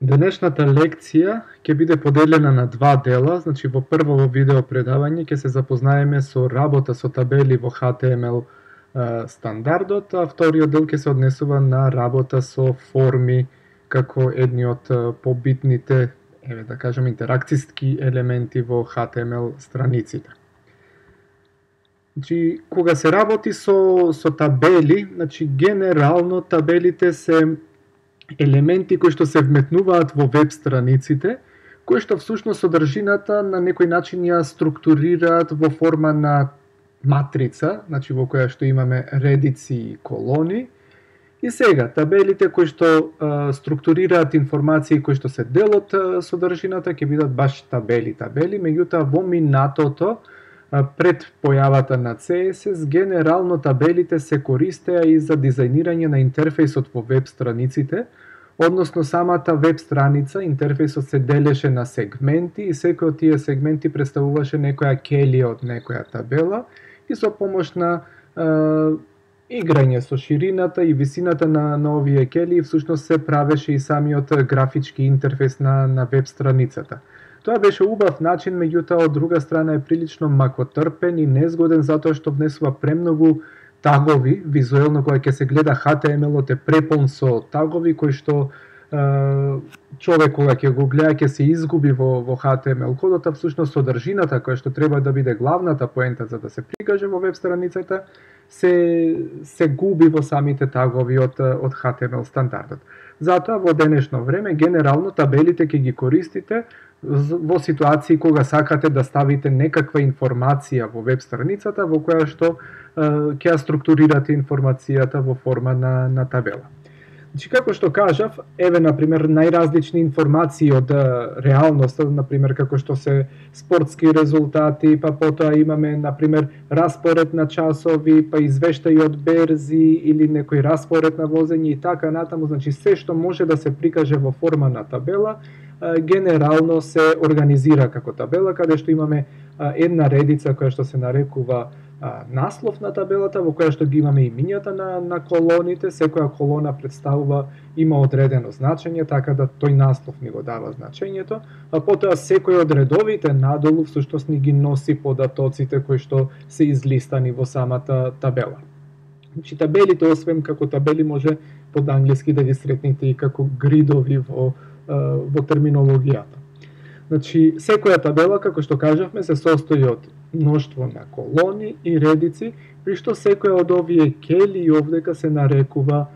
Денешната лекција ќе биде поделена на два дела, значи во прво видео предавање ќе се запознаеме со работа со табели во HTML стандардот, а вториот дел ќе се однесува на работа со форми како едни од побитните, да кажем, интеракциски елементи во HTML страниците. Значи, кога се работи со табели, значи генерално табелите се елементи кои што се вметнуваат во веб страниците, кои што всушност содржината на некој начин ја структурираат во форма на матрица, значи во која што имаме редици и колони. И сега, табелите кои што структурираат информации кои што се дел од содржината ќе бидат баш табели, меѓутоа во минатото, пред појавата на CSS, генерално табелите се користеа и за дизајнирање на интерфејсот во веб страниците, односно самата веб страница, интерфејсот се делеше на сегменти и секој од тие сегменти представуваше некоја келија од некоја табела и со помош на играње со ширината и висината на овие келии всушност се правеше и самиот графички интерфејс на веб страницата. Тоа беше убав начин, меѓутоа од друга страна е прилично макотрпен и незгоден затоа што внесува премногу тагови, визуелно кога ќе се гледа HTML-от е преполн со тагови кои што човек кога ќе го гледа ќе се изгуби во HTML кодот, а всушност содржината која што треба да биде главната поента за да се прикаже во веб страницата се губи во самите тагови од HTML стандардот. Затоа во денешно време генерално табелите ќе ги користите во ситуации кога сакате да ставите некаква информација во веб страницата во која што ќе ја структурирате информацијата во форма на табела. Значи, како што кажав, еве, например, најразлични информации од реалноста, например, како што се спортски резултати, па потоа имаме, например, распоред на часови, па извештаи од берзи или некој распоред на возење и така натаму, значи се што може да се прикаже во форма на табела, генерално се организира како табела, каде што имаме една редица која што се нарекува наслов на табелата, во која што ги имаме имињата на колоните, секоја колона представува, има одредено значење, така да тој наслов ни го дава значењето, а потоа секој од редовите надолу всушност ни ги носи податоците кои што се излистани во самата табела. Значи табелите, освен како табели, може под англиски да ги сретнете и како гридови во терминологијата. Значи, секоја табела, како што кажавме, се состои од мноштво на колони и редици, при што секоја од овие кели овдека се нарекува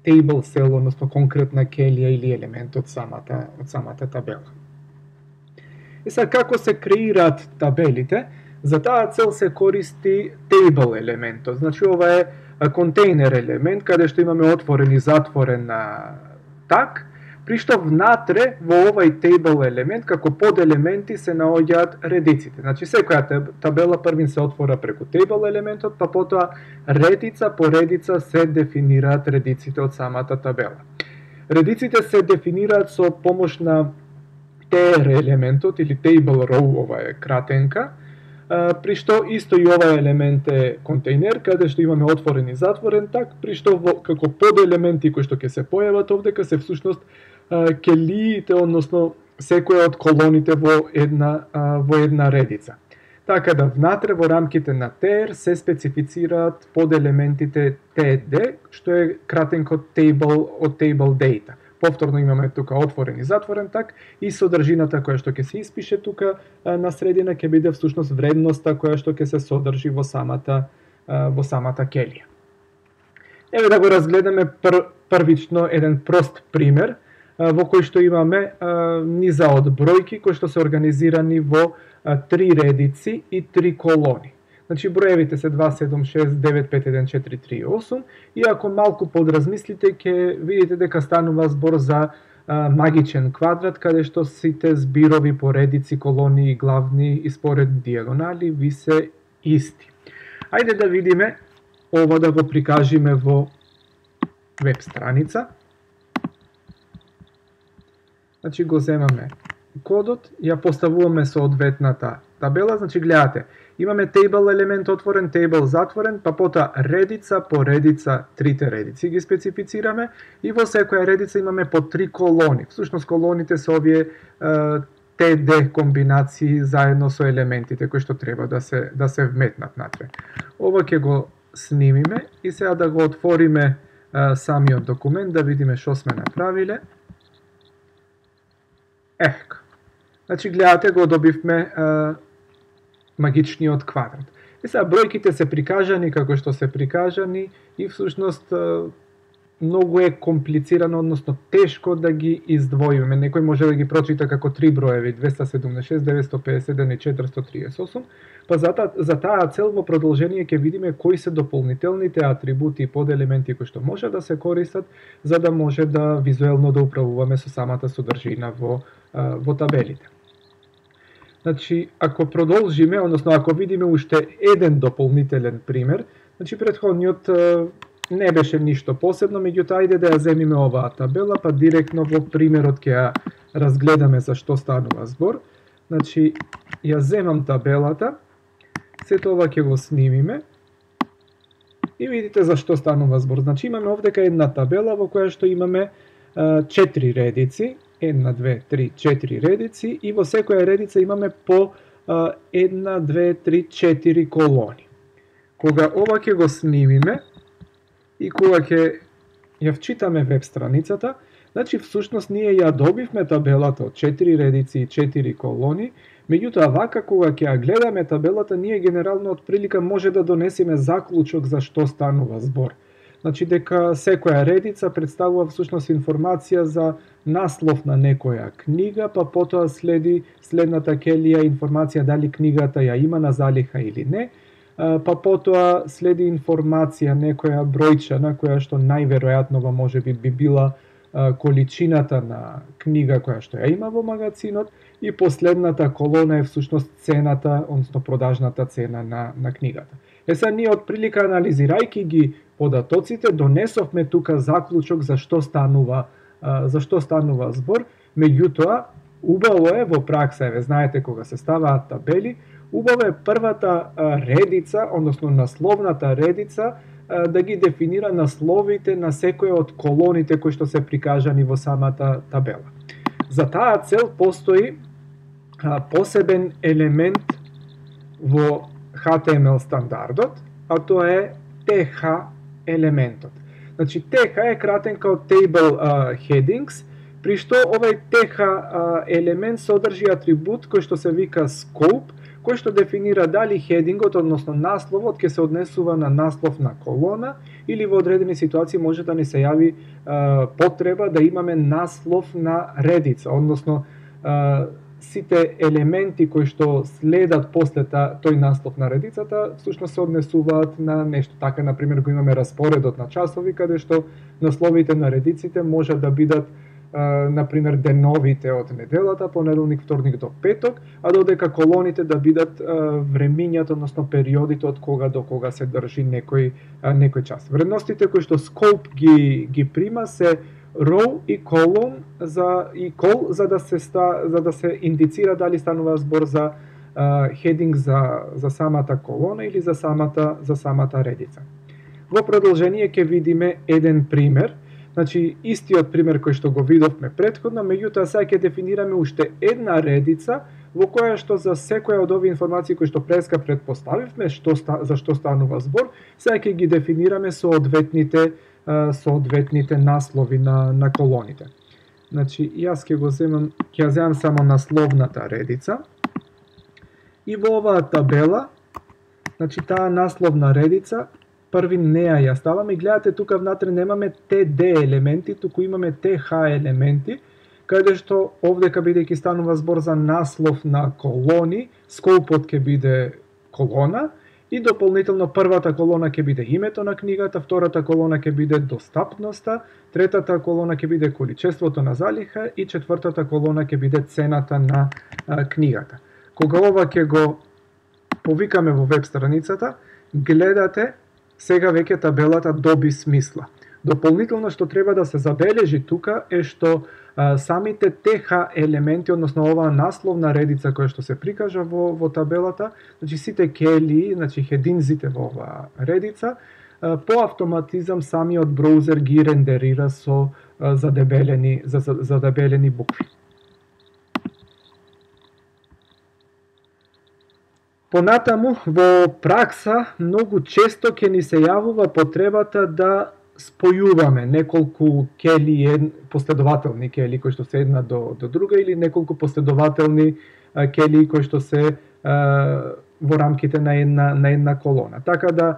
table cell, односно конкретна келија или елемент од самата табела. И сега, како се креираат табелите? За таа цел се користи table елементот. Значи, ова е контейнер елемент, каде што имаме отворен и затворен так, при што внатре во овај table елемент како поделементи се наоѓаат редиците. Значи секоја табела првин се отвора преку table елементот, па потоа редица по редица се дефинираат редиците од самата табела. Редиците се дефинираат со помош на tr елементот или table row, ова е кратенка, при што исто и овај елемент е контейнер, каде што имаме отворен и затворен так, при што како поделементи кои што ќе се појават овдека се всушност келиите, односно секоја од колоните во една редица. Така да внатре во рамките на tr се специфицираат поделементите td, што е кратенко table од table data. Повторно имаме тука отворен и затворен так и содржината која што ќе се испише тука на средина ќе биде всушност вредноста која што ќе се содржи во самата келија. Еве да го разгледаме првично еден прост пример во кој што имаме низа од бројки кои што се организирани во 3 редици и 3 колони. Значи броевите се 276951438 и ако малку подразмислите ќе видите дека станува збор за магичен квадрат каде што сите зборови по редици, колони и главни и според диагонали ви се исти. Ајде да видиме ова да го прикажиме во веб страница. Значи го земаме кодот, ја поставуваме соодветната табела, значи гледате, имаме table елемент отворен, table затворен, па потоа редица по редица, трите редици ги специфицираме и во секоја редица имаме по 3 колони. Всушност колоните се овие TD комбинации заедно со елементите кои што треба да се вметнат натре. Ова ќе го снимиме и сега да го отвориме самиот документ да видиме што сме направиле. Значи гледате, го добивме магичниот квадрат. И сега бројките се прикажани како што се прикажани и всушност многу е комплицирано, односно тешко да ги издвоиме. Некој може да ги прочита како 3 броеви, 276, 951 и 438, па за таа цел во продолжение ќе видиме кои се дополнителните атрибути и поделементи кои што може да се користат за да може да визуелно да управуваме со самата содржина во табелите. Значи, ако продолжиме, односно ако видиме уште еден дополнителен пример, значи претходниот не беше ништо посебно, меѓутоа ајде да ја земиме оваа табела, па директно во примерот ќе ја разгледаме за што станува збор. Значи, ја земам табелата, сето ова ќе го снимиме и видите за што станува збор. Значи, имаме овдека една табела во која што имаме 4 редици, 1, 2, 3, 4 редици и во секоја редица имаме по 1, 2, 3, 4 колони. Кога ова ќе го снимиме и кога ќе ја вчитаме веб страницата, значи всушност ние ја добивме табелата од 4 редици и 4 колони, меѓутоа вака кога ќе ја гледаме табелата, ние генерално од прилика може да донесеме заклучок за што станува збор. Значи дека секоја редица представува всушност информација за наслов на некоја книга, па потоа следната келија информација дали книгата ја има на залиха или не, па потоа следи информација некоја бројчана која што најверојатно можеби би била количината на книга која што ја има во магазинот и последната колона е всушност цената, односно продажната цена на книгата. Сега ние од прилика анализирајќи ги податоците донесовме тука заклучок за што станува збор, меѓутоа убаво е во пракса, знаете кога се ставаат табели, убаво е првата редица, односно насловната редица, да ги дефинира насловите на секоја од колоните кои што се прикажани во самата табела. За таа цел постои посебен елемент во HTML стандардот, а тоа е TH елементот. Значи TH е кратенка од Table Headings, при што овај TH елемент содржи атрибут кој што се вика Scope, кој што дефинира дали хедингот, односно насловот, ќе се однесува на наслов на колона или во одредени ситуации може да ни се јави потреба да имаме наслов на редица, односно сите елементи кои што следат после тој наслов на редицата, всушност се однесуваат на нешто. Така, например, го имаме распоредот на часови, каде што насловите на редиците може да бидат например деновите од неделата, понеделник, вторник до петок, а додека колоните да бидат времињата, односно периодите од кога до кога се држи некој час. Вредностите кои што Scope ги прима се row и column за да се индицира дали станува збор за heading за самата колона или за самата редица. Во продолжение ќе видиме еден пример. Значи, истиот пример кој што го видовме претходно, меѓутоа сега ќе дефинираме уште една редица во која што за секоја од овие информации кои што преска предпоставивме за што станува збор, сега ќе ги дефинираме соодветните наслови на колоните. Значи, јас ќе ја земам само насловната редица и во оваа табела, значи таа насловна редица први неа ја ставаме и гледате тука внатре немаме TD елементи, туку имаме TH елементи, каде што овдека бидејќи станува збор за наслов на колони, скопот ќе биде колона и дополнително првата колона ќе биде името на книгата, втората колона ќе биде достапноста, третата колона ќе биде количеството на залиха и четвртата колона ќе биде цената на книгата. Кога ова ќе го повикаме во веб страницата, гледате сега веќе табелата доби смисла. Дополнително што треба да се забележи тука е што самите ТХ елементи, односно оваа насловна редица која што се прикажа во табелата, значи сите келии, значи хединзите во оваа редица, по автоматизам самиот браузер ги рендерира со задебелени букви. Понатаму, во пракса, многу често ќе ни се јавува потребата да спојуваме неколку келии, последователни келии кои што се една до друга, или неколку последователни келии кои што се во рамките на една колона. Така да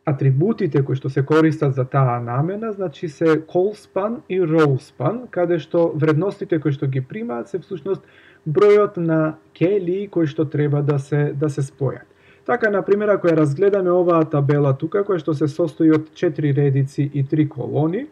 атрибутите кои што се користат за таа намена, значи се colspan и rowspan, каде што вредностите кои што ги примаат се всушност бројот на келии кои што треба да се спојат. Така, например, ако ја разгледаме оваа табела тука, која што се состои од 4 редици и 3 колони,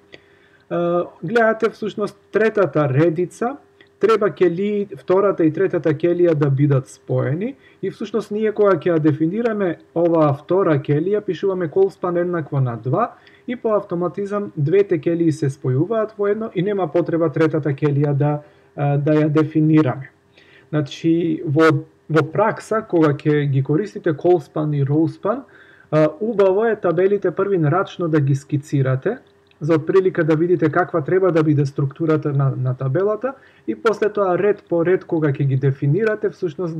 гледате всушност третата редица, треба келии, втората и третата келија да бидат споени, и всушност ние кога ќе ја дефинираме оваа втора келија, пишуваме colspan еднакво на 2, и по автоматизам двете келии се спојуваат во едно и нема потреба третата келија да ја дефинираме. Значи, во пракса, кога ќе ги користите colspan и rowspan, убаво е табелите првин рачно да ги скицирате, за отприлика да видите каква треба да биде структурата на табелата, и после тоа ред по ред кога ќе ги дефинирате, всушност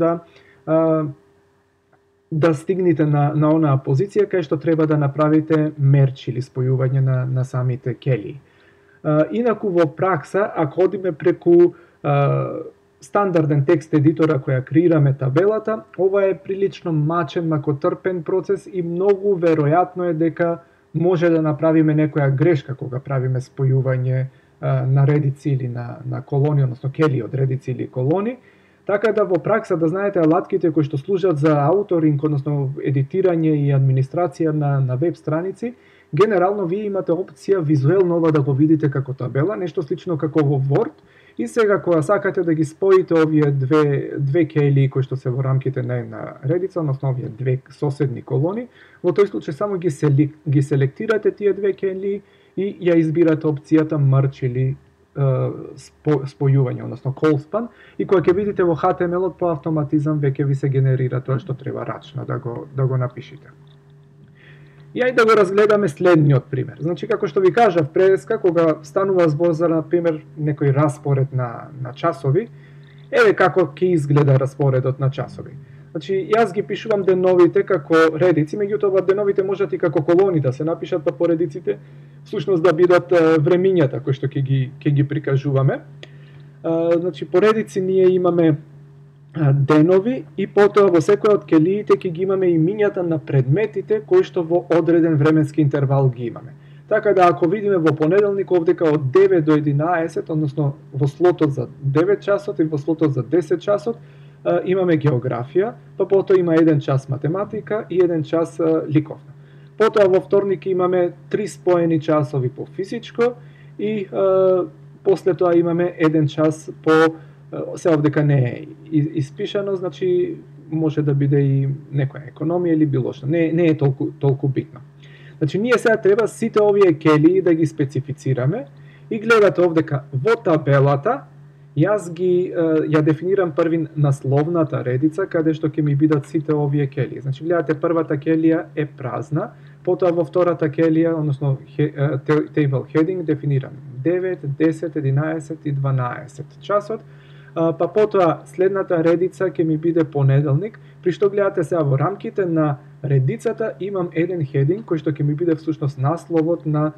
да стигнете на онаа позиција кај што треба да направите мерч или спојување на самите келии. Инаку во пракса, ако одиме преку стандарден текст едитора која креираме табелата, ова е прилично мачен, макотрпен процес и многу веројатно е дека може да направиме некоја грешка кога правиме спојување на редици или на колони, односно келии од редици или колони. Така да во пракса да знаете алатките кои што служат за ауторинг, односно едитирање и администрација на веб страници, генерално вие имате опција визуелно ова да го видите како табела, нешто слично како во Word. И сега кога сакате да ги споите овие две келии кои што се во рамките на една редица, односно овие две соседни колони, во тој случај само ги селектирате тие две келии и ја избирате опцијата merge или спојување, односно colspan, и кога ќе видите во HTML-от по автоматизам веќе ви се генерира тоа што треба рачно да го напишите. И ајде да го разгледаме следниот пример. Значи, како што ви кажав преска, кога станува збор за, например, некој распоред на часови, еве како ќе изгледа распоредот на часови. Значи, јас ги пишувам деновите како редици, меѓутоа деновите можат и како колони да се напишат, па по редиците всушност да бидат времињата кои што ќе ги прикажуваме. Значи, по редици ние имаме денови и потоа во секоја од келиите ќе ги имаме имињата на предметите кои што во одреден временски интервал ги имаме. Така да ако видиме во понеделник овдека од 9 до 11, односно во слотот за 9 часот и во слотот за 10 часот, имаме географија, па потоа има 1 час математика и 1 час ликовна. Потоа во вторник имаме 3 споени часови по физичко и после тоа имаме 1 час по се овдека не е испишано, значи може да биде и некоја економија или било што. Не е толку битно. Значи ние сега треба сите овие келии да ги специфицираме и гледате овдека во табелата јас ја дефинирам првин насловната редица каде што ќе ми бидат сите овие келии. Значи гледате првата келија е празна, потоа во втората келија, односно table heading дефинирам 9, 10, 11 и 12 часот. Па потоа следната редица ќе ми биде понеделник, при што гледате сега во рамките на редицата имам еден хединг кој што ќе ми биде всушност насловот на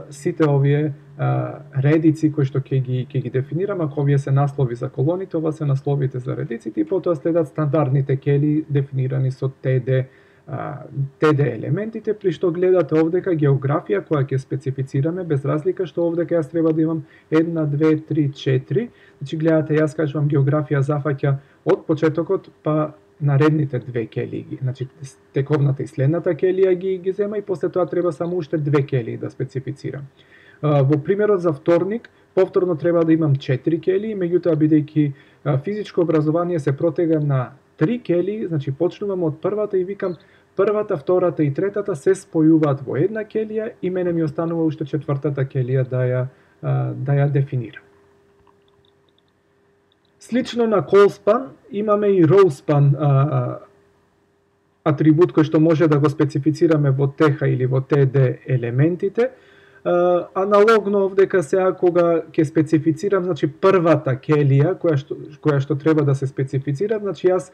сите овие редици кои што ќе ги дефинирам. Ако овие се наслови за колоните, ова се насловите за редиците и потоа следат стандардните келии дефинирани со TD елементите, при што гледате овдека географија која ќе специфицираме, без разлика што овдека јас треба да имам 1, 2, 3, 4. Значи гледате, јас кажувам географија зафаќа од почетокот па наредните две келии. Значи тековната и следната келија ги зема и после тоа треба само уште две келии да специфицирам. Во примерот за вторник, повторно треба да имам 4 келии, меѓутоа бидејќи физичко образование се протега на 3 келии, значи почнувам од првата и викам првата, втората и третата се спојуваат во една келија и мене ми останува уште четвртата келија да ја дефинира. Слично на call-span имаме и row-span атрибут кој што може да го специфицираме во TH или во TD елементите. Аналогно овдека сега кога ќе специфицирам, значи првата келија која што треба да се специфицира, значи јас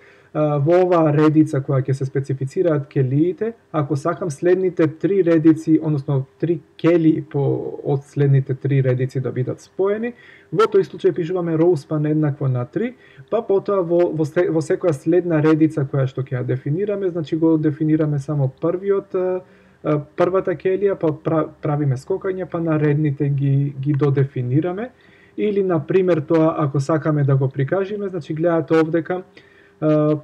во оваа редица која ќе се специфицираат келиите, ако сакам следните 3 редици, односно 3 келии од следните 3 редици да бидат споени, во тој случај пишуваме row-span еднакво на 3, па потоа во секоја следна редица која што ќе ја дефинираме, значи го дефинираме само првата келија, па правиме скокање, па наредните ги додефинираме. Или, например, тоа, ако сакаме да го прикажеме, значи гледате овдека,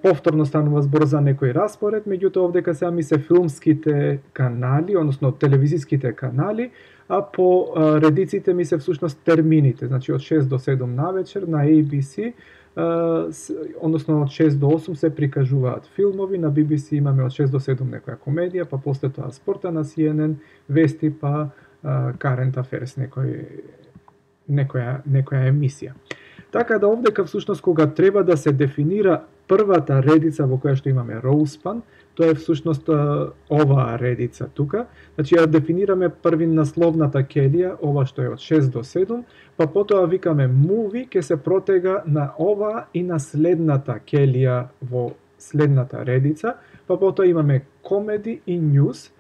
повторно станува збор за некој распоред, меѓутоа овдека сега ми се филмските канали, односно телевизиските канали, а по редиците ми се всушност термините, значи од 6 до 7 навечер на ABC, односно од 6 до 8 се прикажуваат филмови, на BBC имаме од 6 до 7 некоја комедија, па после тоа спорта на CNN, вести, па Current Affairs, некоја емисија. Така да овдека всушност кога треба да се дефинира првата редица во која што имаме row-span, тоа е всушност оваа редица тука. Значи ја дефинираме први насловната келија, ова што е од 6 до 7, па потоа викаме movie, ќе се протега на ова и на следната келија во следната редица, па потоа имаме comedy и news.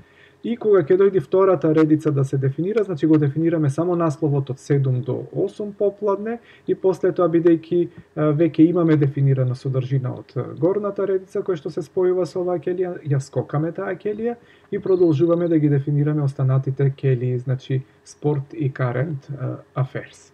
И кога ќе дојде втората редица да се дефинира, значи го дефинираме само насловот од 7 до 8 попладне и после тоа, бидејќи веќе имаме дефинирана содржина од горната редица која што се спојува со оваа келија, ја скокаме таа келија и продолжуваме да ги дефинираме останатите келии, значи спорт и current affairs.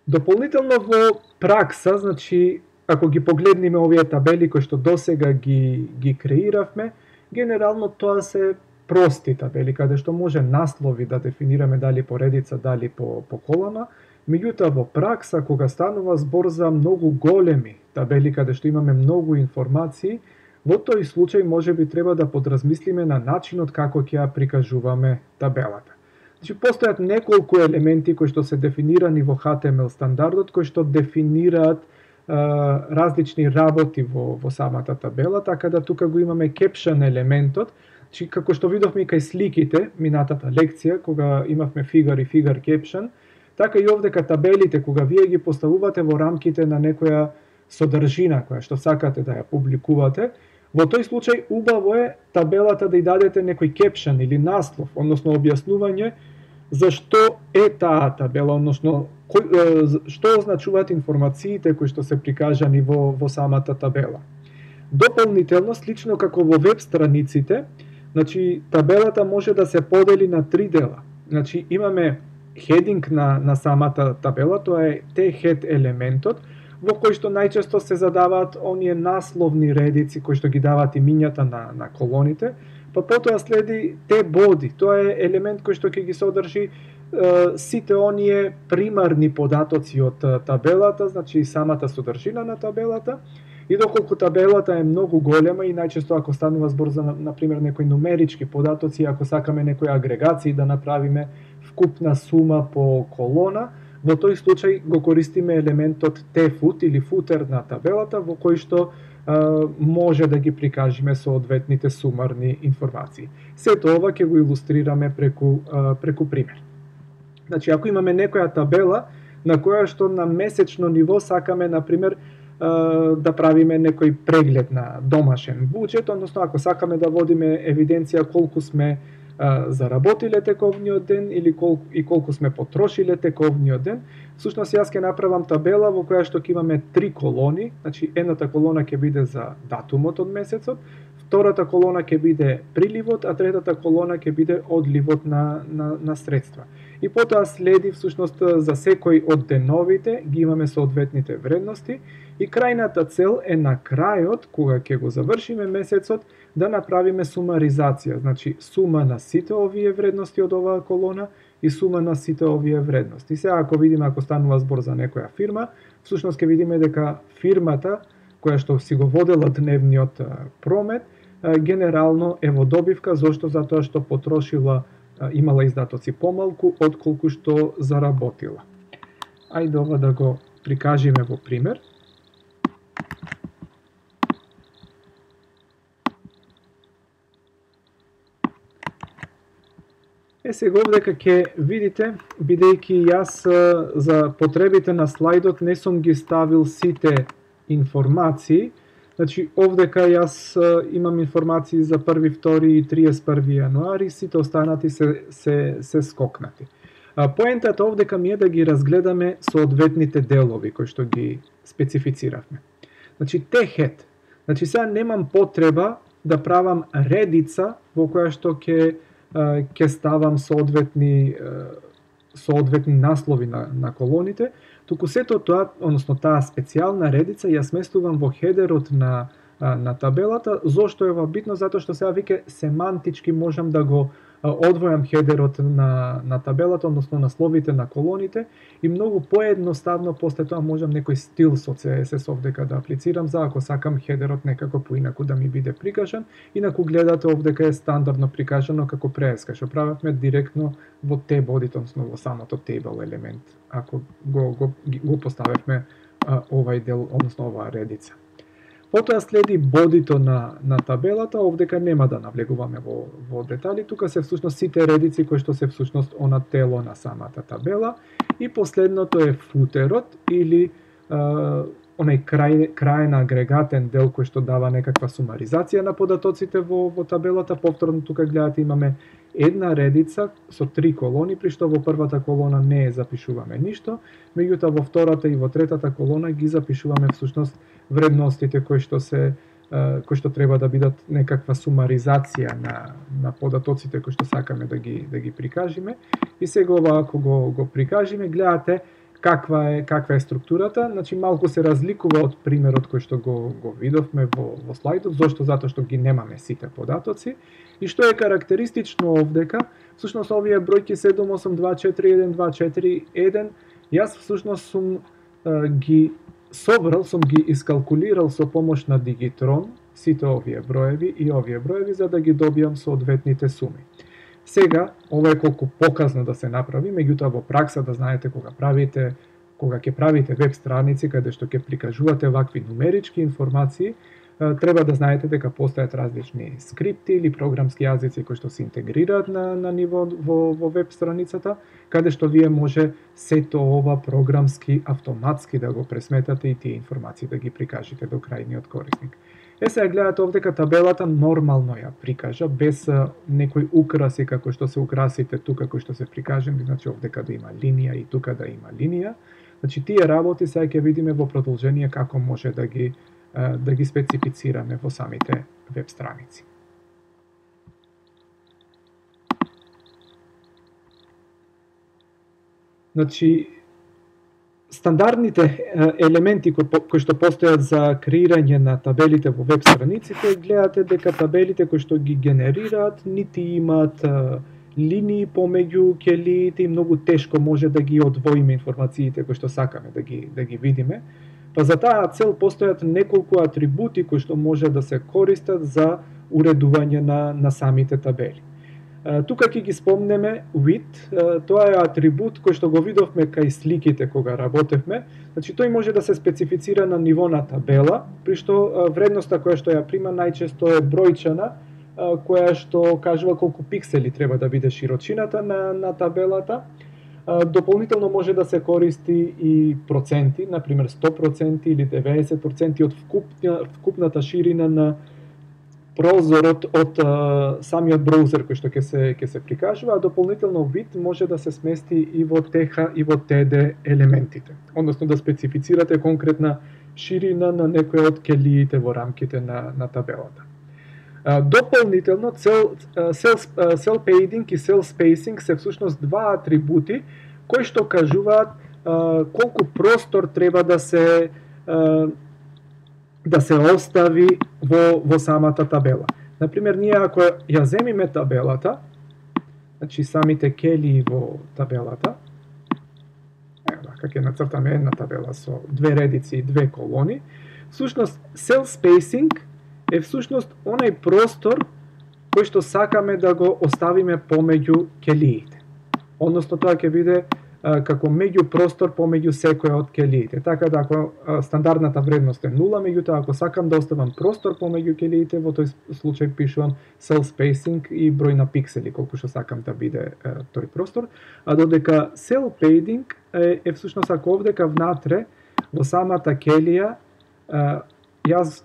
Дополнително во пракса, значи ако ги погледнеме овие табели кои што досега ги креиравме, генерално тоа се прости табели, каде што може наслови да дефинираме дали по редица, дали по колона, меѓутоа во пракса, кога станува збор за многу големи табели, каде што имаме многу информации, во тој случај може би треба да подразмислиме на начинот како ќе ја прикажуваме табелата. Значи, постојат неколку елементи кои што се дефинирани во HTML стандардот, кои што дефинираат различни работи во самата табела, така да тука го имаме caption елементот, значи како што видовме и кај сликите минатата лекција кога имавме figure и figure caption, така и овдека табелите кога вие ги поставувате во рамките на некоја содржина која што сакате да ја публикувате, во тој случај убаво е табелата да ја дадете некој caption или наслов, односно објаснување зашто е таа табела, односно што означуваат информациите кои што се прикажани во самата табела. Дополнително, слично како во веб страниците, значи табелата може да се подели на 3 дела. Значи имаме хединг на самата табела, тоа е T-head елементот, во кој што најчесто се задаваат оние насловни редици кои што ги даваат имињата на колоните, па потоа следи T-body, тоа е елемент кој што ќе ги содржи сите оние примарни податоци од табелата, значи самата содржина на табелата, и доколку табелата е многу голема и најчесто ако станува збор за, например, некои нумерички податоци, ако сакаме некои агрегации да направиме вкупна сума по колона, во тој случај го користиме елементот T-foot или футер на табелата, во кој што може да ги прикажеме соодветните сумарни информации. Сето ова ќе го илустрираме преку пример. Значи, ако имаме некоја табела на која што на месечно ниво сакаме, например, да правиме некој преглед на домашен буџет, односно ако сакаме да водиме евиденција колку сме заработиле тековниот ден или колку сме потрошиле тековниот ден, всушност јас ќе направам табела во која што ќе имаме 3 колони, значи едната колона ќе биде за датумот од месецот, втората колона ќе биде приливот, а третата колона ќе биде одливот на средства. И потоа следи всушност за секој од деновите ги имаме соодветните вредности и крајната цел е на крајот, кога ќе го завршиме месецот, да направиме сумаризација, значи сума на сите овие вредности од оваа колона и сума на сите овие вредности. Сега ако видиме, ако станува збор за некоја фирма, всушност ќе видиме дека фирмата која што си го водела дневниот промет, генерално е во добивка, зошто? Затоа што потрошила имала издатоци помалку отколку што заработила. Ајде ова да го прикажеме во пример. Сега овдека ќе видите, бидејќи јас за потребите на слайдот не сум ги ставил сите информации, значи овдека јас имам информации за 1, 2 и 31 јануари, сите останати се скокнати. Поентата овдека ми е да ги разгледаме соодветните делови кои што ги специфициравме. Значи T-head, значи сега немам потреба да правам редица во која што ќе ставам соодветни наслови на колоните, туку сето тоа, односно таа специјална редица ја сместувам во хедерот на табелата. Зошто е ова битно? Затоа што сега веќе семантички можам да го одвојам хедерот на табелата, односно насловите на колоните, и многу поедноставно после тоа можам некој стил со CSS овдека да аплицирам за ако сакам хедерот некако поинаку да ми биде прикажан. Инаку гледате овдека е стандардно прикажано како преска, што правевме директно во T-бодито, односно во самото table елемент, ако го поставевме овај дел, односно оваа редица. Потоа следи бодито на табелата, овдека нема да навлегуваме во детали, тука се всушност сите редици кои што се всушност она тело на самата табела, и последното е футерот или онај крајен агрегатен дел кој што дава некаква сумаризација на податоците во табелата. Повторно тука гледате имаме една редица со 3 колони, при што во првата колона не запишуваме ништо, меѓутоа во втората и во третата колона ги запишуваме всушност вредностите кои што треба да бидат некаква сумаризација на податоците кои што сакаме да ги прикажеме. И сега ова ако го прикажеме, гледате каква е структурата. Значи малку се разликува од примерот кој што го видовме во слайдот. Зошто? Затоа што ги немаме сите податоци. И што е карактеристично овдека, всушност овие бројки 7, 8, 2, 4, 1, 2, 4, 1, јас всушност сум ги собрал, сум ги искалкулирал со помош на Digitrone сите овие броеви за да ги добијам соодветните суми. Сега, ова е колку показно да се направи, меѓутоа во пракса да знаете кога ќе правите веб страници каде што ќе прикажувате вакви нумерички информации, треба да знаете дека постојат различни скрипти или програмски јазици кои што се интегрираат на ниво во веб страницата, каде што вие може сето ова програмски автоматски да го пресметате и тие информации да ги прикажете до крајниот корисник. Сега гледате овдека табелата нормално ја прикажа, без некои украси како што се украсите тука кои што се прикажени, значи овдека да има линија и тука да има линија. Значи тие работи сега ќе видиме во продолжение како може да ги специфицираме во самите веб страници. Значи, стандардните елементи кои што постојат за креирање на табелите во веб страниците, гледате дека табелите кои што ги генерираат нити имаат линии помеѓу ќелиите и многу тешко може да ги одвоиме информациите кои што сакаме да ги видиме. Па за таа цел постојат неколку атрибути кои што може да се користат за уредување на самите табели. Тука ќе ги спомнеме width, тоа е атрибут кој што го видовме кај сликите кога работевме. Значи тој може да се специфицира на ниво на табела, при што вредноста која што ја прима најчесто е бројчана, која што кажува колку пиксели треба да биде широчината на табелата. Дополнително може да се користи и проценти, например 100% или 90% од вкупната ширина на прозорот од самиот браузер кој што ќе се прикажува, а дополнително вид може да се смести и во TH и во TD елементите, односно да специфицирате конкретна ширина на некој од ќелиите во рамките на табелата. Дополнително, cell padding и cell spacing се всушност два атрибути кои што кажуваат колку простор треба да се остави во самата табела. Например, ние ако ја земиме табелата, значи самите ќелии во табелата, ќе нацртаме една табела со две редици и две колони, всушност cell spacing е всушност онај простор кој што сакаме да го оставиме помеѓу келиите. Односно тоа ќе биде како меѓупростор помеѓу секоја од келиите. Така да ако стандардната вредност е 0, меѓутоа ако сакам да оставам простор помеѓу келиите, во тој случај пишувам cell spacing и број на пиксели колку што сакам да биде тој простор, а додека cell padding е всушност ако овдека внатре во самата келија јас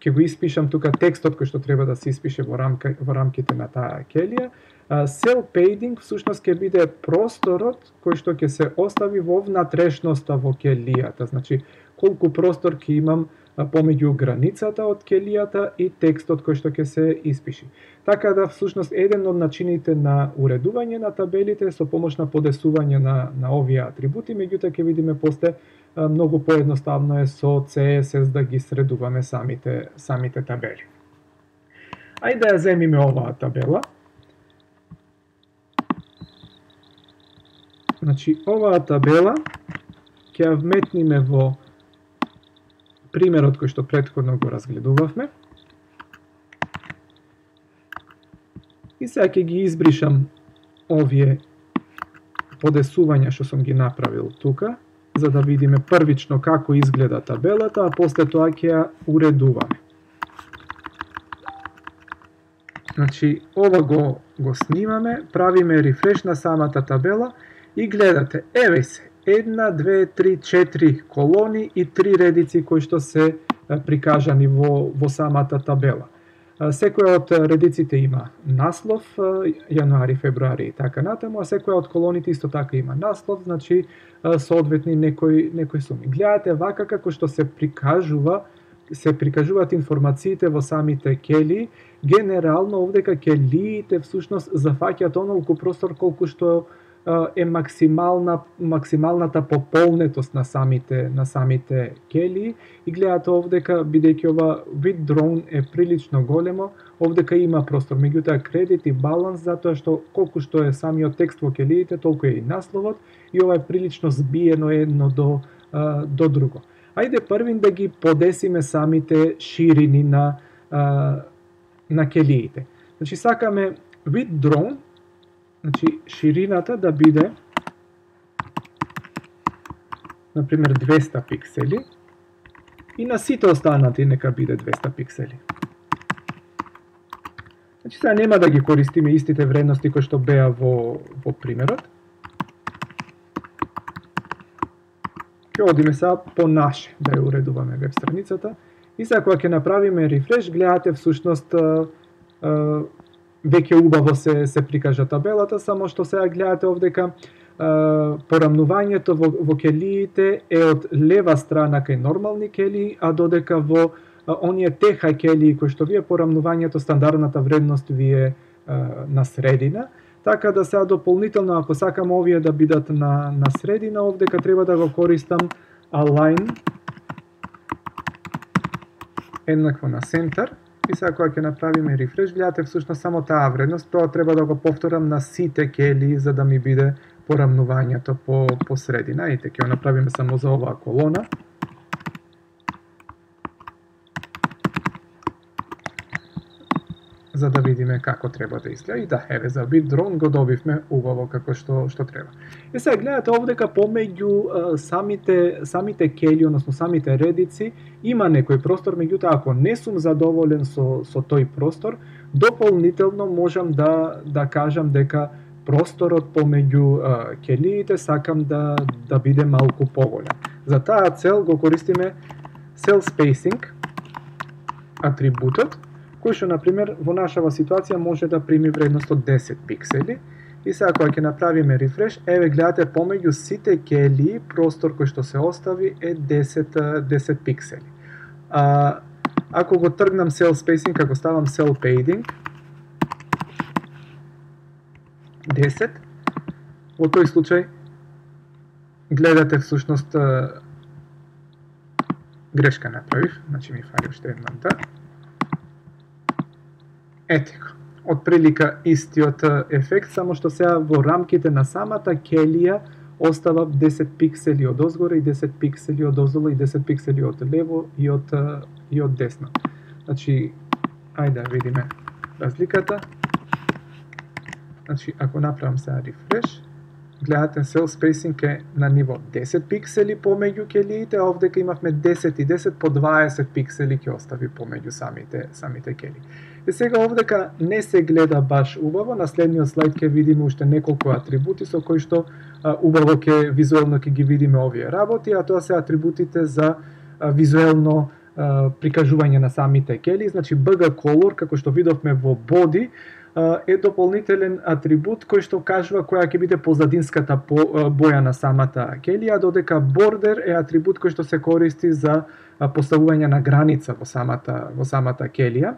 ќе го испишам тука текстот кој што треба да се испише во рамките на таа келија. Cell padding всушност ќе биде просторот кој што ќе се остави во внатрешноста во келијата. Значи, колку простор ќе имам помеѓу границата од келијата и текстот кој што ќе се испиши. Така да всушност еден од начините на уредување на табелите со помош на подесување на овие атрибути, меѓутоа ќе видиме после многу поедноставно е со CSS да ги средуваме самите табели. Ајде да ја земиме оваа табела. Значи, оваа табела ќе ја вметниме во примерот кој што претходно го разгледувавме. И сега ќе ги избришам овие подесувања што сум ги направил тука, за да видиме првично како изгледа табелата, а после тоа ќе ја уредуваме. Значи, ова го снимаме, правиме рефреш на самата табела и гледате, еве се, 1, 2, 3, 4 колони и 3 редици кои што се прикажани во самата табела. Секоја од редиците има наслов, јануари, февруари и така натаму, а секоја од колоните исто така има наслов, значи соодветни некои суми. Гледате вака како што се прикажуваат информациите во самите келии, генерално овдека келиите всушност зафаќаат онолку простор колку што е максималната пополнетост на самите келии и гледате овдека, бидејќи ова withdrawn е прилично големо, овдека има простор, меѓутоа кредит и баланс, затоа што колку што е самиот текст во келиите, толку е и насловот и ова е прилично збиено едно до друго. Ајде првин да ги подесиме самите ширини на келиите. Значи сакаме withdrawn, значи ширината да биде например 200 пиксели и на сите останати нека биде 200 пиксели. Значи сега нема да ги користиме истите вредности кои што беа во примерот. Ќе одиме сега по наше да ја уредуваме веб страницата и сега кога ќе направиме рефреш, гледате всушност веќе убаво се прикажа табелата, само што сега гледате овдека порамнувањето во келиите е од лева страна кај нормални келии, а додека во оние теха келии кои што вие порамнувањето стандардната вредност ви е на средина, така да сега дополнително ако сакам овие да бидат на средина, овдека треба да го користам align еднакво на center. И сега кога ќе направиме рефреш, гледате всушност само таа вредност, тоа треба да го повторам на сите келии за да ми биде порамнувањето по средина. Ете, ќе го направиме само за оваа колона. За да видиме како треба да изгледа. И да, еве, за withdrawn го добивме убаво како што треба. И сега гледате овдека помеѓу самите кели, односно самите редици, има некој простор, меѓутоа ако не сум задоволен со тој простор, дополнително можам да кажам дека просторот помеѓу келиите сакам да биде малку поголем. За таа цел го користиме cell spacing атрибутот, кој што, например, во нашава ситуација може да прими вредност од 10 пиксели. И сега кога ќе направиме рефреш, еве гледате помеѓу сите келии простор кој што се остави е 10 пиксели. Ако го тргнам cell spacing, ако ставам cell padding 10, во тој случај гледате всушност грешка направив, значи ми фали уште едната. Ете го, отприлика истиот ефект, само што сега во рамките на самата келија остава 10 пиксели од озгоре и 10 пиксели од оздолу и 10 пиксели од лево и од десно. Значи, ајде да видиме разликата. Значи, ако направам сега рефреш, гледате cell spacing е на ниво 10 пиксели помеѓу келиите, а овдека имавме 10 и 10 по 20 пиксели ќе остави помеѓу самите кели. И сега овдека не се гледа баш убаво, на следниот слайд ќе видиме уште неколку атрибути со кои што убаво визуелно ќе ги видиме овие работи, а тоа се атрибутите за визуелно прикажување на самите кели. Значи BG Color, како што видовме во Body, е дополнителен атрибут кој што кажува која ќе биде позадинската боја на самата келија, додека Border е атрибут кој што се користи за поставување на граница во самата келија.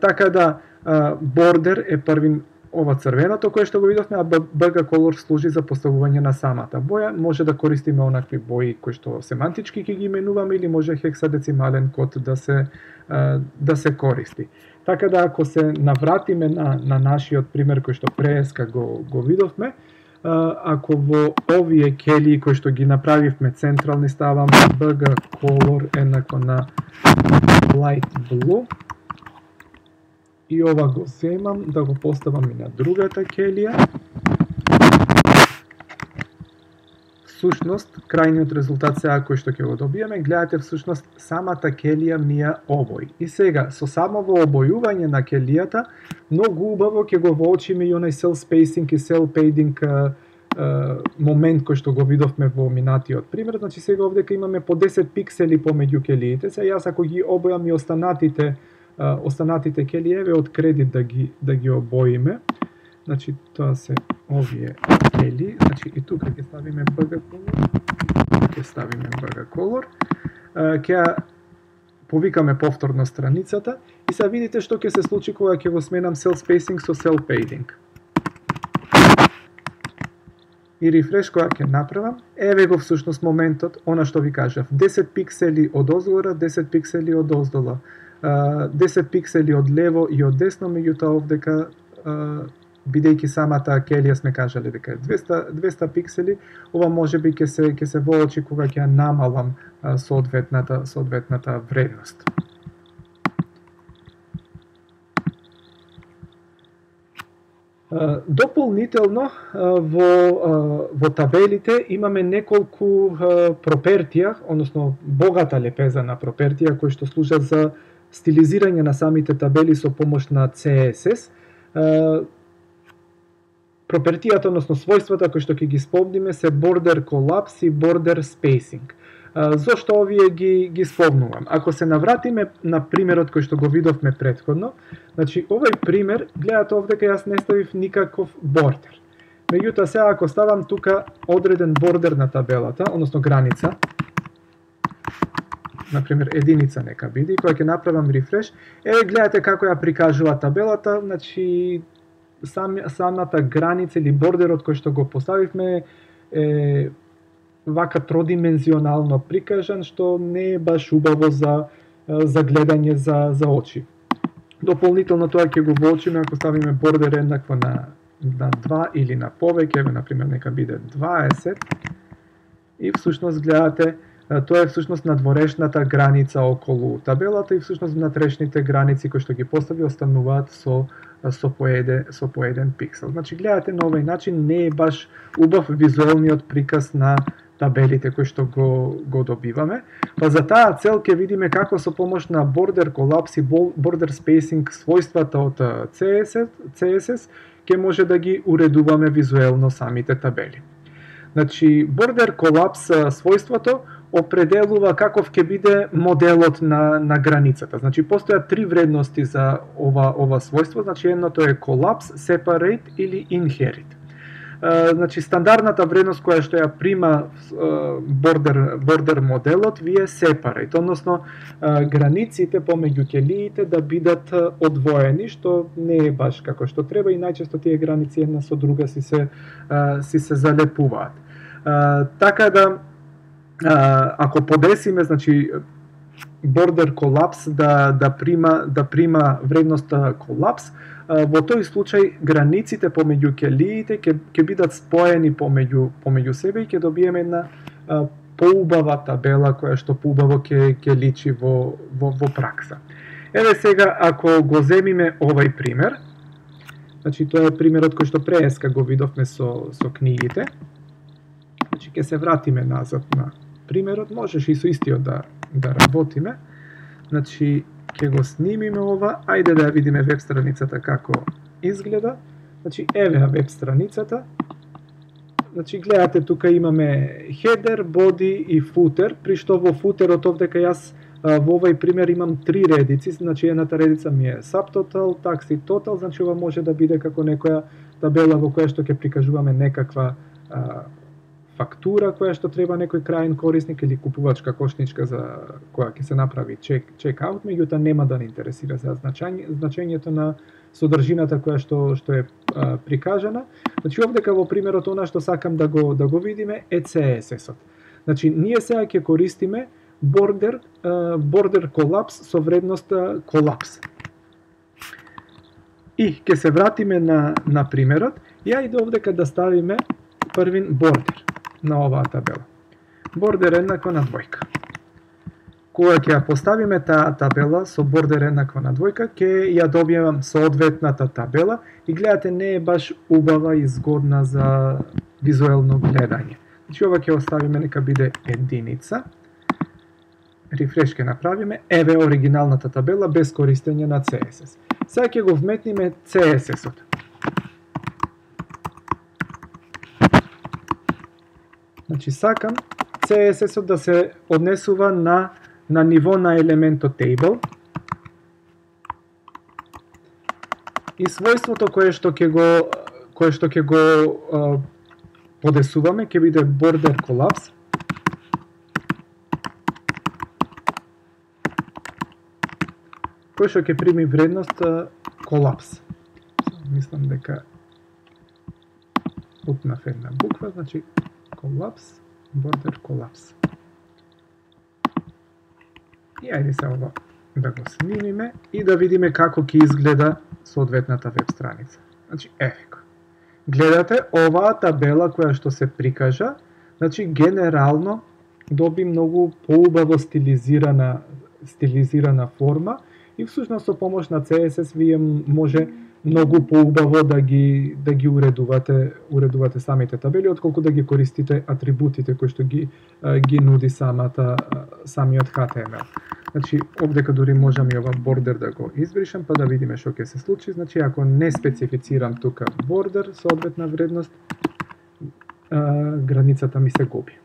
Така да Border е првин ова црвеното кое што го видовме, а BG Color служи за поставување на самата боја. Може да користиме онакви бои кои што семантички ќе ги именуваме или може хексадецимален код да се користи. Така да ако се навратиме на нашиот пример кој што преска го видовме, ако во овие келии кои што ги направивме централни ставам BG Color еднакво на Light Blue, и ова го земам да го поставам и на другата келија. Всушност, крајниот резултат сега кој што ќе го добиеме, гледате всушност самата келија ми ја обои. И сега, со самово обојување на келијата, многу убаво ќе го воочиме и онај cell spacing и cell padding момент кој што го видовме во минатиот пример. Значи сега овдека имаме по 10 пиксели помеѓу келиите. Сега јас ако ги обојам и останатите келиеве од кредит да ги обоиме. Значи тоа се овие кели, значи и тука ќе ставиме BG Color. Ќе повикаме повторно страницата и сега видите што ќе се случи кога ќе го сменам cell spacing со cell padding. И рефреш кога ќе направам, еве го всушност моментот, она што ви кажав, 10 пиксели од озгора, 10 пиксели од оздола, 10 пиксели од лево и од десно, меѓутоа овдека бидејќи самата келија сме кажале дека е 200 пиксели, ова можеби ќе се воочи кога ќе намалам соодветната вредност. Дополнително во табелите имаме неколку пропертија, односно богата лепеза на пропертија кои што служат за стилизирање на самите табели со помош на CSS. Пропертијата, односно својствата кои што ќе ги спомниме се border collapse и border spacing. Зошто овие ги спомнувам? Ако се навратиме на примерот кој што го видовме претходно, значи овој пример, гледате овдека јас не ставив никаков бордер. Меѓутоа сега ако ставам тука одреден бордер на табелата, односно граница, например единица нека биде, кога ќе направам рефреш, еве гледате како ја прикажува табелата, значи самата граница или бордерот кој што го поставивме е вака тродимензионално прикажан, што не е баш убаво за гледање за очи. Дополнително тоа ќе го воочиме ако ставиме бордер еднакво на 2 или на повеќе, еве например нека биде 20, и всушност гледате тоа е всушност надворешната граница околу табелата и всушност внатрешните граници кои што ги постави остануваат со по еден пиксел. Значи гледате на овој начин не е баш убав визуелниот приказ на табелите кои што го добиваме. Па за таа цел ќе видиме како со помош на border collapse и border spacing својствата од CSS ќе може да ги уредуваме визуелно самите табели. Значи border collapse својството определува каков ќе биде моделот на границата. Значи постојат три вредности за ова својство, значи едното е collapse, separate или inherit. Значи стандардната вредност која што ја прима бордер моделот ви е separate, односно границите помеѓу келиите да бидат одвоени, што не е баш како што треба и најчесто тие граници една со друга си се залепуваат. Така да ако подесиме, значи border collapse да прима вредноста collapse, во тој случај границите помеѓу келиите ќе бидат споени помеѓу себе и ќе добиеме една поубава табела која што поубаво ќе личи во пракса. Еве сега, ако го земиме овај пример, значи тоа е примерот кој што прееска го видовме со книгите, значи ќе се вратиме назад на примерот, можеш и со истиот да работиме, значи ќе го снимиме ова, ајде да ја видиме веб страницата како изгледа, значи еве веб страницата, значи гледате тука имаме header, body и footer, при што во футерот овдека јас во овај пример имам 3 редици, значи едната редица ми е subtotal, tax и total, значи ова може да биде како некоја табела во која што ќе прикажуваме некаква фактура која што треба некој крајен корисник или купувачка кошничка за која ќе се направи чек-аут, меѓутоа нема да не интересира за значењето на содржината која што е прикажана. Значи овдека во примерот она што сакам да го видиме е CSS-от. Значи ние сега ќе користиме border collapse со вредноста collapse. И ќе се вратиме на примерот и ајде овдека да ставиме првин border на оваа табела. Border еднакво на двојка. Кога ќе ја поставиме таа табела со бордер еднакво на двојка, ќе ја добијам соодветната табела и гледате не е баш убава и згодна за визуелно гледање. Значи ова ќе оставиме нека биде единица. Рефреш ќе направиме, еве оригиналната табела без користење на CSS. Сега ќе го вметниме CSS-от. Значи сакам CSS-от да се однесува на ниво на елементот table. И својството кое што ќе го подесуваме ќе биде border collapse. Кој што ќе прими вредност collapse. Мислам дека утнав една буква, значи collapse, border collapse. И ајде се ова да го снимиме и да видиме како ќе изгледа соодветната веб страница. Значи, еве. Гледате, оваа табела која што се прикажа, значи генерално доби многу поубаво стилизирана форма и всушност со помош на CSS вие може многу поубаво да ги уредувате самите табели, отколку да ги користите атрибутите кои што ги нуди самиот HTML. Значи, овдека дури можам и ова бордер да го избришам, па да видиме што ќе се случи. Значи, ако не специфицирам тука бордер, соодветна вредност, границата ми се губи.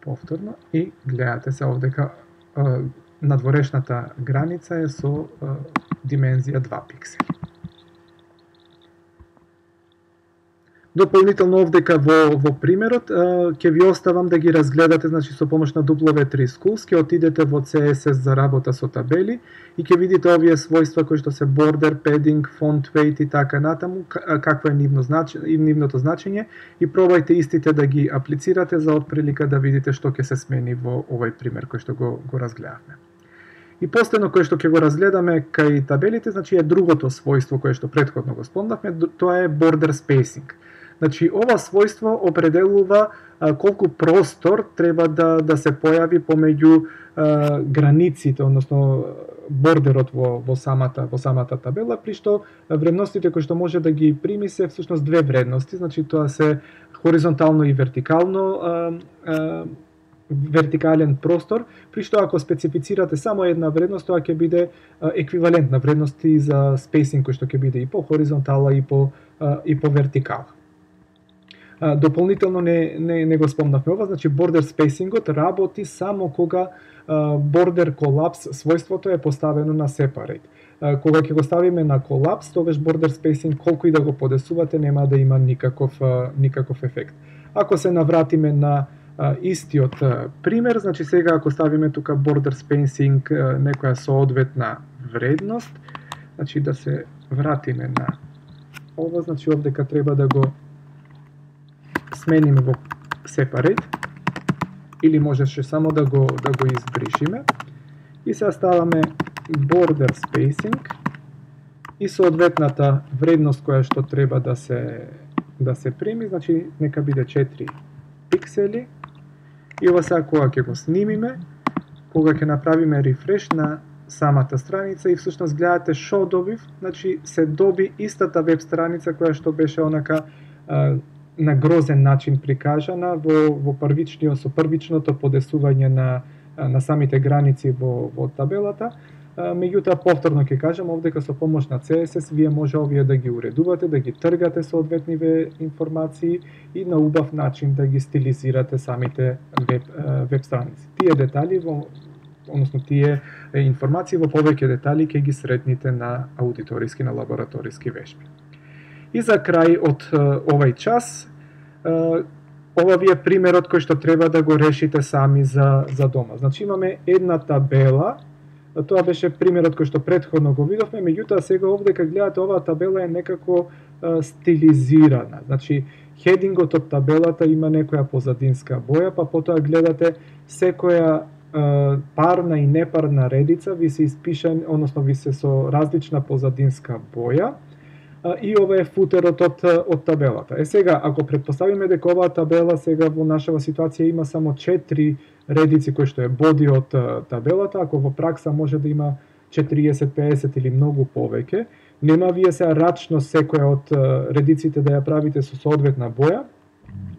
Повторно, и гледате се овдека надворешната граница е со димензија 2 пиксели. Дополнително овдека во примерот ќе ви оставам да ги разгледате, значи со помош на W3 Schools ќе отидете во CSS за работа со табели и ќе видите овие својства кои што се border, padding, font weight и така натаму, какво е нивното значење и пробајте истите да ги аплицирате за отприлика да видите што ќе се смени во овој пример кој што го разгледавме. И последно кое што ќе го разгледаме кај табелите, значи е другото својство кое што претходно го спомнавме, тоа е border spacing. Значи, ова својство определува колку простор треба да се појави помеѓу границите, односно бордерот во самата табела, при што вредностите кои што може да ги прими се всушност две вредности, значи тоа се хоризонтално и вертикален простор, при што ако специфицирате само една вредност, тоа ќе биде еквивалентна вредност и за спейсинг кој што ќе биде и по хоризонтала и по вертикала. Дополнително не го спомнавме ова, значи border spacingот работи само кога border collapse својството е поставено на separate. Кога ќе го ставиме на collapse, тогаш border spacing колку и да го подесувате нема да има никаков ефект. Ако се навратиме на истиот пример, значи сега ако ставиме тука border spacing некоја соодветна вредност, значи да се вратиме на ова, значи овдека треба да го смениме во separate или можеше само да го избришиме и се ставаме border spacing и соодветната вредност која што треба да се прими, значи нека биде 4 пиксели и ова сега кога ќе го снимиме, кога ќе направиме рефреш на самата страница и всушност гледате што добив, значи се доби истата веб страница која што беше онака на грозен начин прикажана во првичното подесување на самите граници во табелата. Меѓутоа повторно ќе кажам, овдека со помош на CSS вие може овие да ги уредувате, да ги тргате соодветниве информации и на убав начин да ги стилизирате самите веб страници. Тие детали односно тие информации во повеќе детали ќе ги сретните на аудиториски, на лабораториски вежби. И за крај од овај час, ова ви е примерот кој што треба да го решите сами за дома. Значи имаме една табела, тоа беше примерот кој што претходно го видовме, меѓутоа сега овдека гледате оваа табела е некако стилизирана. Значи хедингот од табелата има некоја позадинска боја, па потоа гледате секоја парна и непарна редица ви се испишан, односно ви се со различна позадинска боја. И ова е футерот од табелата. Сега, ако претпоставиме дека оваа табела сега во нашава ситуација има само 4 редици кои што е боди од табелата, ако во пракса може да има 40, 50 или многу повеќе, нема вие се рачно секоја од редиците да ја правите со соодветна боја,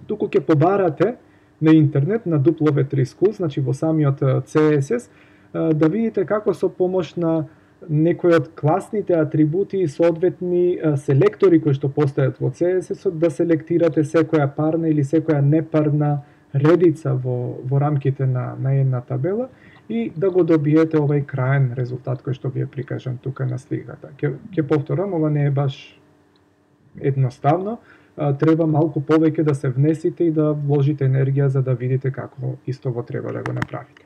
туку ќе побарате на интернет, на W3 Schools, значи во самиот CSS, да видите како со помош на некои од класните атрибути и соодветни селектори кои што постојат во CSS-от да селектирате секоја парна или секоја непарна редица во рамките на една табела и да го добиете овај краен резултат кој што ви е прикажан тука на сликата. Ќе повторам, ова не е баш едноставно, треба малку повеќе да се внесите и да вложите енергија за да видите како истово треба да го направите.